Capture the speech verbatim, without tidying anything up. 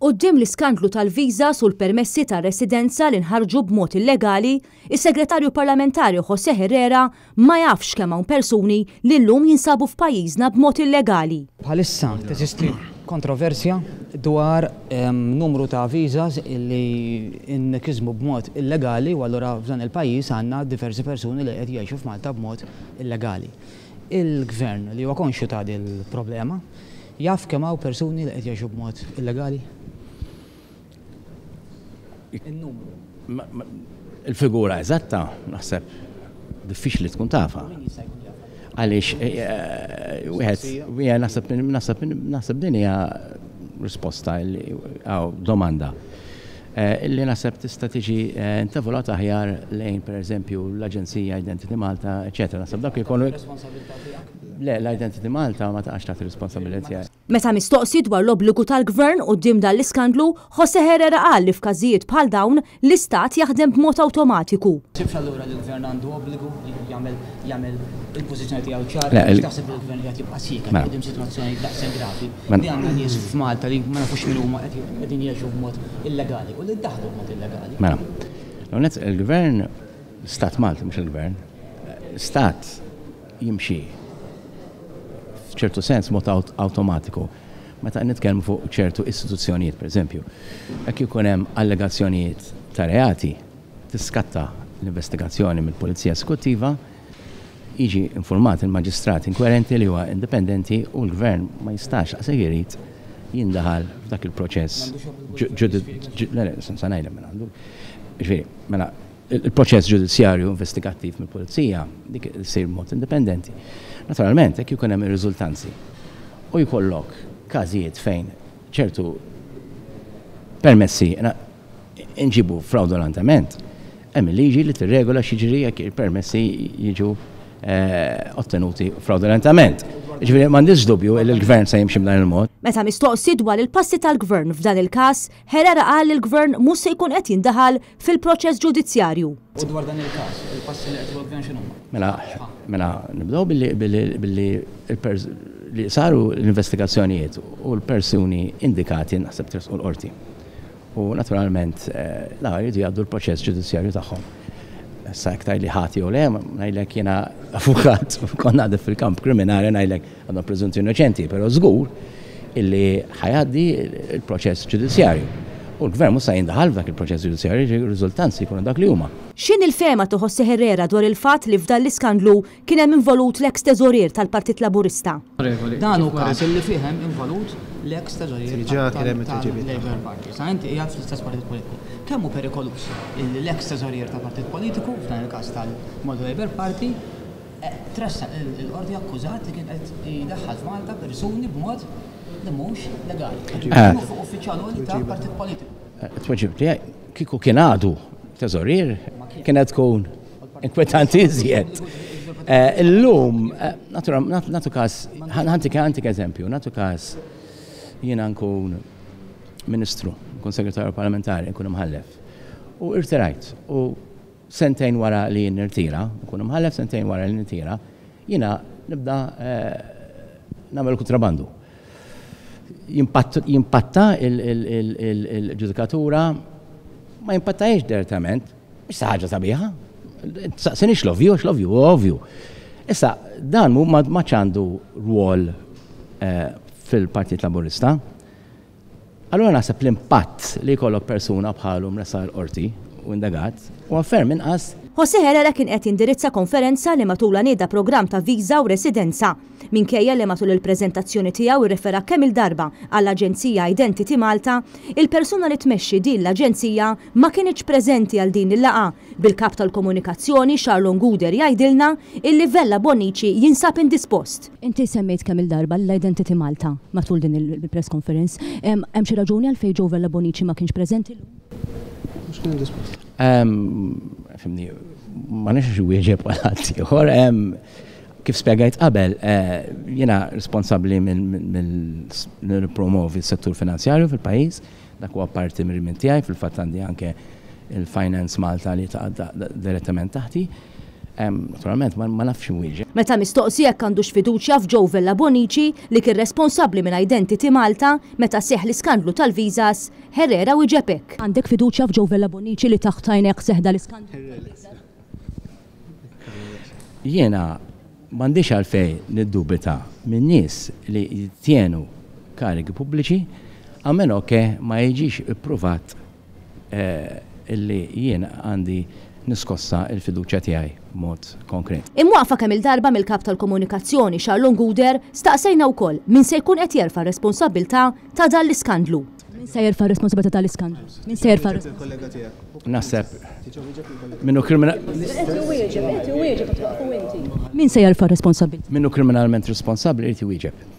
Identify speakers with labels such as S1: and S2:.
S1: Quddiem l-iskandlu tal-viżas u l-permessi ta' residenza li nħarġu b'mod illegali, is-Segretarju Parlamentari José Herrera ma jafx kemm hawn persuni li llum jinsabu f'pajjiżna b'mod illegali.
S2: Bħalissa teżisti kontroversja dwar numru ta' viżas li nkisbu b'mod illegali u allura f'dan il-pajjiż għandna diversi persuni li qed jgħixu f'Malta b'mod illegali. Il-gvern li huwa konxju ta' din il-problema jaf kemm hawn persuni li qed jgħixu b'mod illegali?
S3: Il-figura eżatta naħseb diffiċli tkun tafha. Għaliex wieħed wieħed naħseb naħseb naħseb din hija risposta għaw domanda illi naħseb tista' tiġi intavolata aħjar lejn pereżempju l-Aġenzija Identity Malta, eċetera. Naħseb dak ikunu Le, l-Identity Malta ma taqax taħt ir-responsabilità tiegħi.
S1: Meta mistoqsi dwar l-obbligu tal-gvern quddiem dan l-iskandlu, José Herrera qal li f'każijiet bħal dawn l-istat jaħdem b'mod awtomatiku.
S2: Sibx allura li l-gvern għandu obbligu jagħmel jagħmel il-pożizzjoni tiegħu ċara, taħseb li l-gvern qed jibqa' sieket quddiem sitwazzjoni daqshekk gravi. Li għandna nies f'Malta li ma nafux min huma qegħdin jgħixu b'mod illegali u li ddaħlu b'mod illegali.
S3: Mela, l-għonet il-gvern, stat Malta mhux il-gvern, stat jimxi f'ċertu sens mod awtomatiku. Meta nitkellmu fuq ċertu istituzzjonijiet, pereżempju, jekk ikun hemm allegazzjonijiet ta' reati, tiskatta l-investigazzjoni mill-Pulizija Esekuttiva, jiġi informat il-maġistrat inkwerenti li huwa indipendenti u l-gvern ma jistax għasek irid jindaħal f'dak il-proċess. Le, le, sa ngħidlek mela għandu. Ġifieri, mela il-proċess ġudizzjarju investigattiv mill-Pulizija dik isir mod indipendenti. Naturalment, jekk ikun hemm ir-riżultanzi u jkollok każijiet fejn ċertu permessi nġibu fraudolentament, hemm il-liġi li tirregola x'jiġri jekk il-permessi jiġu ottenuti fraudolentament. Ġifieri m'għandix dubju li l-gvern se jimxi b'dan il-mod.
S1: Meta mistoqsi dwar il-passi tal-gvern f'dan il-każ, Herrera qal li l-gvern mhux se jkun qed jindaħal fil-proċess ġudizzjarju.
S2: U dwar dan il-każ, il-passi li qed il-gvern x'inhuma?
S3: Mela, mela nibdew billi billi li saru l-investigazzjonijiet u l-persuni indikati naħseb tressqu l-qorti. U naturalment la jridu jgħaddu l-proċess ġudizzjarju tagħhom. Issa jekk tgħidli ħati jew le, ngħidlek jiena avukat, konna għadha fil-kamp kriminali ngħidlek għandhom preżunti innoċenti, però żgur illi ħajgħaddi il-proċess ġudizzjarju. U l-gvern mhux se jindaħal f'dak il-proċess ġudizzjarju, ir-riżultanzi jkunu dak li huma.
S1: X'inhi l-fehma ta' José Herrera dwar il-fatt li f'dan l-iskandlu kien hemm involut l-eks teżorier tal-Partit Laburista?
S2: Dan hu każ li fih hemm involut l-eks teżorier tal-Labour Party. Sa inti qiegħed fl-istess partit politiku. Kemm hu perikoluż li l-eks teżorier tal-partit politiku, f'dan il-każ tal-Malta Labour Party, tressaq il-qorti akkużat li kien qed jdaħħal f'Malta persuni b'mod li mhux legali. Fuq uffiċjal ta' partit politiku.
S3: Tweġib tiegħi kieku kien għadu teżorier kienet tkun inkwetanti iżjed. Illum, nagħtu każ, ħantik ħantik eżempju, nagħtu każ jiena nkun ministru, nkun segretarju parlamentari, nkun imħallef. U irtirajt, u sentejn wara li nirtira, nkun imħallef sentejn wara li nirtira, jiena nibda nagħmel kontrabandu. Jimpatta il-ġudikatura, ma jimpattajiex direttament, mhix ħaġa sabiħa. Saqsinix l-ovvju, l-ovvju, ovvju. Issa, dan ma ċandu rwol fil-Partit Laburista. Allura naħseb l-impatt li jkollok persuna bħalu mressaq l-qorti u indagat u ferm inqas.
S1: José Herrera kien qed jindirizza konferenza li matulha nieda programm ta' viża u residenza. Minkejja li matul il-preżentazzjoni tiegħu irrefera kemm il-darba għall-Aġenzija Identity Malta, il-persuna li tmexxi din l-aġenzija ma kienx preżenti għal din il-laqgħa. Bil-kap tal-komunikazzjoni Charlon Guder jgħidilna illi Vella Bonnici jinsab indispost. Inti semmejt kemm il-darba l-Identity Malta matul din il-press conference. Hemm xi raġuni għalfejn Joe Vella Bonnici ma kienx preżenti llum?
S4: Mhux kien indispost.
S3: Fimni, ma nix wieġeb għal ħadd ieħor. Kif spjegajt qabel, jiena responsabbli mill-promovi s-settur finanzjarju fil-pajjiż, dak huwa parti mir-rimin tiegħi, fil-fatt għandi anke il-Finance Malta li taqa' direttament taħti. Naturalment, ma nafx inwieġeb.
S1: Meta mistoqsi jekk għandux fiduċja f'Joe Vella Bonici li kien responsabbli minn Identity Malta meta seħħ l-iskandlu tal-visas, Herrera wieġeb hekk. Għandek fiduċja f'Joe Vella Bonici li taħt għajnek seħħ dal-iskandlu?
S3: Jiena m'għandix għalfejn niddubita minn nies li jittienu karigi pubbliċi, a meno che ma jiġix ippruvat illi jien għandi niskossa il-fiduċja tiegħi b'mod konkret.
S1: Imwaqfa kemm il-darba mill-kap tal-komunikazzjoni Charlon Gouder, staqsejna wkoll min se jkun qed jerfa' responsabbiltà ta' dan l-iskandlu. Min se jerfa' responsabilità tal-iskandlu? Min se jerfa'
S3: Naħseb minnu kriminal.
S1: Min se jerfa' responsabilità?
S3: Minnu kriminalment responsabbli irid iwieġeb.